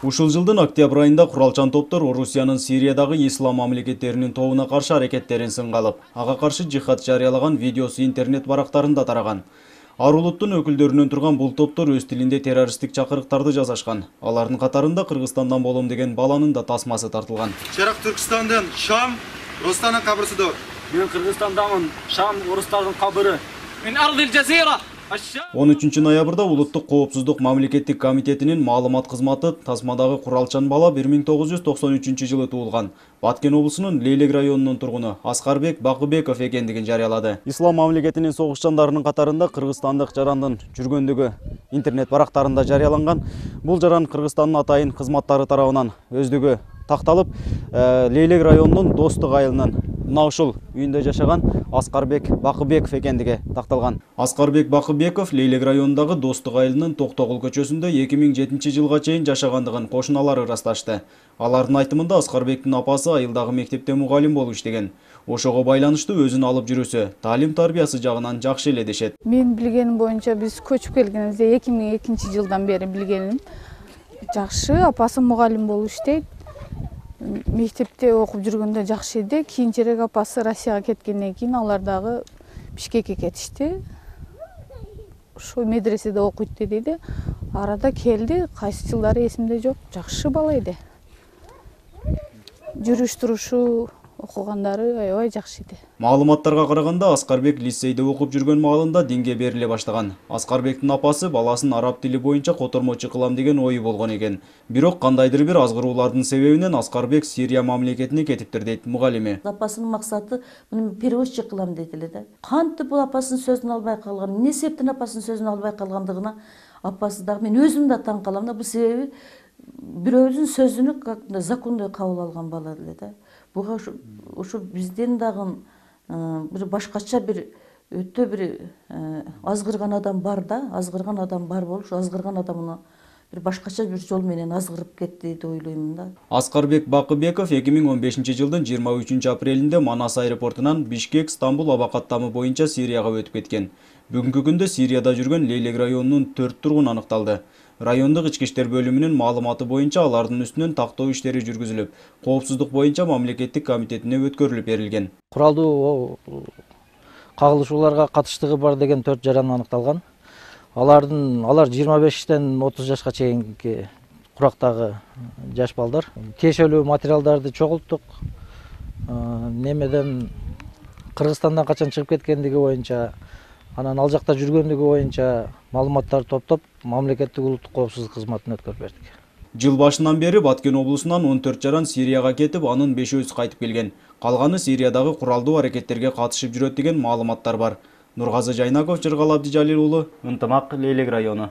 Ушул жылдын октябрь айында куралчан топтор Орусиянын Сириядагы ислам мамлекеттеринин тобуна каршы аракеттерин сынга алып, ага каршы жихад жарыялаган видеосу интернет барактарында тараган. Ар улуттун өкүлдөрүнөн турган бул топтор өз тилинде террористтик чакырыктарды жасашкан. Алардын катарында Кыргызстандан болом деген баланын да тасмасы тартылган. Чарак Түркстандан Шам, Рустанын кабырсыдыр. Мен Кыргызстандамын, Шам, орустардын кабыры. Мен Ардил Жазира. 13 ноябрда Улуттук коопсуздук мамлекеттик комитетинин маалымат кызматы тасмадагы куралчан бала 1993 туулган Баткен облусунун Лейлек районунун тургуну Аскарбек Бакыбеков экендигин жарыялады. Ислам мамлекетинин согушчандарынын катарында кыргызстандык жарандын жүргөндүгү интернет барактарында жарыяланган. Бул жаран Кыргызстандын атайын кызматтары тарабынан өздүгү такталып, Лейлек районунун Достук айылынын мына ушул үйүндө жашаган Аскарбек Бакыбеков экендиги такталган. Аскарбек Бакыбеков Лейлек районундагы Достук айылынын Токтогул көчөсүндө 2007-жылга чейин жашагандыгын кошуналары ырасташты. Алардын айтымында Аскарбектин апасы айылдагы мектепте мугалим болуп иштеген. Ошого байланыштуу өзүн алып жүрүүсү, таалим-тарбиясы жагынан жакшы эле дешет. Мен билгеним боюнча биз көчүп келгенибизде 2002-жылдан бери билгеним жакшы, апасы мугалим болуп иштейт. Мектепте окуп жүргөндө жакшы эле, кийинчерээк апасы Россияга кеткенден кийин алар дагы Бишкекке кетишти. Ошо медреседе окуйт деди. Арада келди, кайсы жылдары эсимде жок. Жакшы бала эди. Жүрүш турушу, окугандары аябай жакшы эди. Маалыматтарга караганда Аскарбек лицейде окуп жүргөн маалында динге бериле баштаган. Аскарбектин апасы баласын араб тили боюнча котормочу кылам деген ою болгон экен. Бирок кандайдыр бир азгыруулардын себебинен Аскарбек Сирия мамлекетине кетиптир дейт мугалими. Апасынын максаты муну перевозчик кылам дейт эле да. Кантип бул апасынын сөзүн албай калган, эмне себептен апасынын сөзүн албай калгандыгына апасы дагы мен өзүм да таң калам да. Бул себеби бирөөбүздүн сөзүнү как закондой кабыл алган бала эле да. Буга ушу бизден дагы бир башкача бир өтө бир азгырган адам бар да, азгырган адам бар болуп, ушу азгырган адамына бир башкача бир жол менен азгырып кетти деп ойлоймун да. Аскарбек Бакыбеков 2015-жылдын 23-апрелинде Манас аэропортунан Бишкек-Стамбул аба каттамы боюнча Сирияга өтүп кеткен. Бүгүнкү күндө Сирияда жүргөн Лейлек районунун 4 тургуну аныкталды. Райондук ички иштер бөлүмүнүн маалыматы боюнча алардын үстүнөн тактоо иштери жүргүзүлүп, коопсуздук боюнча мамлекеттик комитетине өткөрүлүп берилген. Куралдуу кагылышууларга катыштыгы бар деген 4 жаран аныкталган. Алар 25-тен 30 жашка чейинки курактагы жаш балдар. Тиешелүү материалдарды чогулттук. Немеден Кыргызстандан качан чыгып кеткендиги боюнча, анан ал жакта жүргөндүгү боюнча маалыматтарды топтоп, мамлекеттик улуттук коопсуздук кызматына өткөрүп бердик. Жыл башынан бери Баткен облусунан 14 жаран Сирияга кетип, анын 5-өзү кайтып келген. Калганы Сириядагы куралдуу аракеттерге катышып жүрөт деген маалыматтар бар. Нургазы Жайнаков, Жыргал Абдижалил уулу, Ынтымак, Лейлек району.